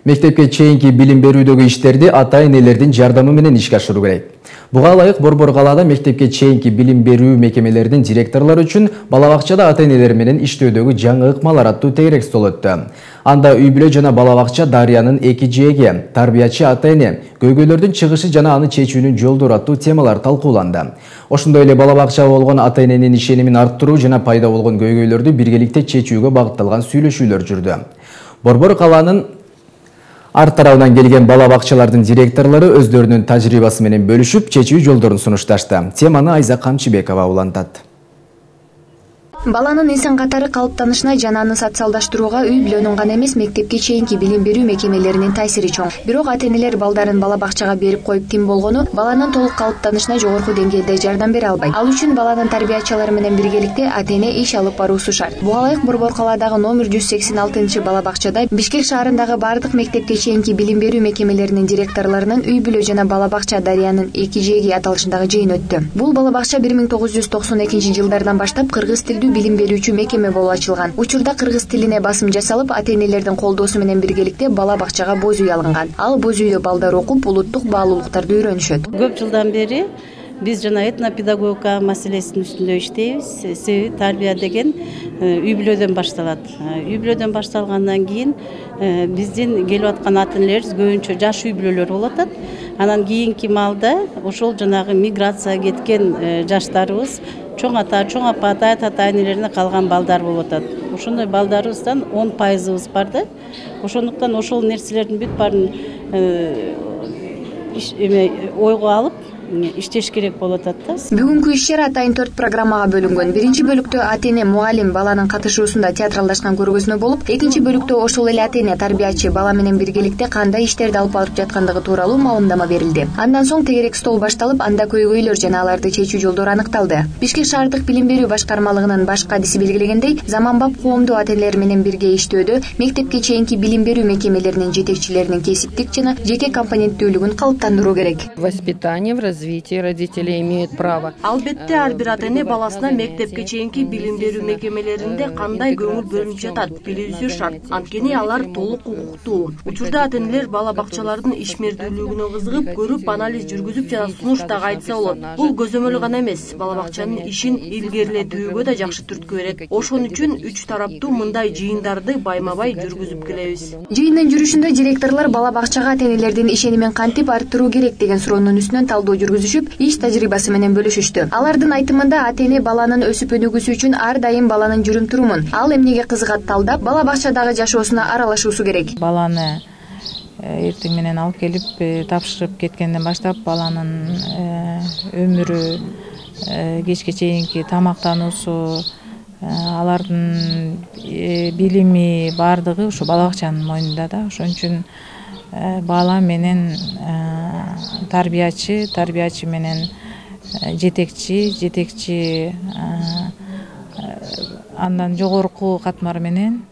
Мектепке чейинки билим берүүдөгү иштерди ата-энелердин жардамы менен ишке ашыруу керек. Буга ылайык Борбор калаада мектепке чейинки билим берүү мекемелеринин директорлору үчүн бала бакчада ата-энелер менен иштөөдөгү жаңы ыкмалар аттуу тегерек стол өттү. Анда үй-бүлө жана бала бакча Дарыянын эки жээги, тарбиячы ата-эне, көйгөйлөрдүн чыгышы жана аны чечүүнүн жолдору аттуу темалар талкууланды. Ошондой эле бала бакчага болгон ата-эненин ишенимин арттыруу жана пайда болгон көйгөйлөрдү биргеликте чечүүгө багытталган сүйлөшүүлөр жүрдү. Борбор калаанын арт тарабынан келген бала бакчалардын директорлору өздөрүнүн тажрыйбасы менен бөлүшүп, чечүү жолдорун сунушташты. Теманы Айза Камчыбекова улантат. Баланын инсан катары калыптанышына жана аны социалдаштырууга үй-бүлөнүн гана эмес, мектепке чейинки билим берүү мекемелеринин таасири чоң. Бирок ата-энелер балдарын бала бакчага берип коюп тим болгону баланын толук калыптанышына жогорку деңгээлде жардам бере албайт. Ал үчүн баланын тарбиячылары менен биргеликте ата-эне иш алып баруусу шарт. Буга ылайык Борбор калаадагы номер 186 бала бакчада Бишкек шаарындагы бардык мектепке чейинки билим берүү мекемелеринин директорлорунун үй-бүлө жана бала бакча Дарыянын эки жээги аталышындагы жыйын өттү. Бул бала бакча 1992 жылдардан баштап кыргыз тилдүү билим берүүчү мекеме болуп ачылган. Учурда кыргыз тилине басым жасалып, ата-энелердин колдоосу менен биргеликте бала бакчага боз үй алынган. Ал боз үйдө балдар окуп, улуттук баалуулуктарды үйрөнүшөт. Көп жылдан бери биз жана этнопедагогика маселесинин үстүндө иштейбиз. Себеби тарбия деген үй-бүлөдөн башталат. Үй-бүлөдөн башталгандан кийин биздин келип аткан ата-энелерибиз көбүнчө жаш үй-бүлөлөр болуп атат. Анан кийинки маалда ошол жанагы миграция кеткен жаштарыбыз чоң ата, чоң апа, ата-энелерине калган балдар болуп атат. Ошондой балдарыбыздан 10% бар да. Ошондуктан ошол нерселердин бүт баарын ойго алып иштеш керек болуп атат да. Бүгүнкү иш чара атайын 4 программага бөлүнгөн. Биринчи бөлүктө ата-эне мугалим баланын катышуусунда театралдашкан көргөзмө болуп, экинчи бөлүктө ошол эле ата-эне тарбиячы бала менен биргеликте кандай иштерди алып барып жаткандыгы тууралуу маалымдама берилди. Андан соң тегерек стол башталып, анда көйгөйлөр жана аларды чечүү жолдору аныкталды. Бишкек шаардык билим берүү башкармалыгынын баш кадиси белгилегендей, заманбап коомдуу ата-энелер менен бирге иштөөдө мектепке чейинки билим берүү мекемелеринин жетекчилеринин кесиптик жана жеке компоненттүүлүгүн калыптандыруу керек. Воспитание в развитии родители имеют право. Албетте ар бир ата-эне баласына мектепке чейинки билим берүү мекемелеринде кандай көңүл бөлүнүп жатат билүүсү шарт. Анткени алар толук укуктуу. Учурда ата-энелер бала бакчалардын ишмердүүлүгүнө кызыгып, көрүп, анализ жүргүзүп жана сунуш дагы айтса болот. Бул көзөмөл гана эмес, бала бакчанын ишин илгерилетүүгө да жакшы түрткү берет. Ошон үчүн 3 тараптуу мындай жыйындарды байма-бай жүргүзүп келебиз. Жыйындын жүрүшүндө директорлор бала бакчага ата-энелердин ишенимин кантип арттыруу керек деген суроонун үстүнөн талдоо жүргүзүшүп, иш тажрыйбасы менен бөлүшүштү. Алардын айтымында ата-эне баланын өсүп өнүгүүсү үчүн ар дайым баланын жүрүм-турумун, ал эмнеге кызыгат талдап, бала бакчадагы жашоосуна аралашуусу керек. Баланы эртең менен алып келип тапшырып кеткенден баштап баланын өмүрү, кечке чейинки тамактануусу, алардын билими баардыгы ушу бала бакчанын мойнунда да. Ошон үчүн бала менен тарбиячы менен жетекчи андан жогорку катмар менен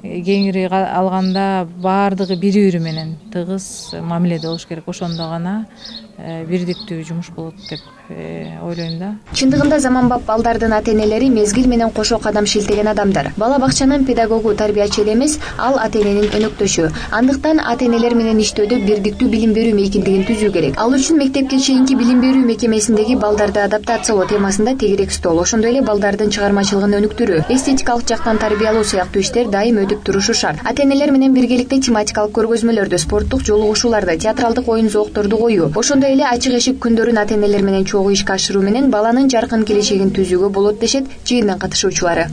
кеңири алганда баардыгы бири-бири менен тыгыз мамиледе болуш керек. Ошондо гана бирдиктүү жумуш болот деп ойлойм да. Чындыгында заманбап балдардын ата-энелери мезгил менен кошо кадам шилтеген адамдар. Бала бакчанын педагогу тарбиячы эле эмес, ал ата-эненин өнөктөшү. Андыктан ата-энелер менен иштөөдө бирдиктүү билим берүү мейкиндигин түзүү керек. Ал үчүн мектепке чейинки билим берүү мекемесиндеги балдарды адаптациялоо темасында тегерек стол, ошондой эле балдардын чыгармачылыгын өнүктүрүү, эстетикалык жактан тарбиялоо сыяктуу иштер дайым өтүп турушу шарт. Ата-энелер менен биргеликте тематикалык көргөзмөлөрдү, спорттук жолугушууларды, театралдык оюн зоокторду коюу, ошондой эле ачык эшик күндөрүн ата-энелер менен чогуу ишке ашыруу менен баланын жаркын келечегин түзүүгө болот дешет жыйындын катышуучулары.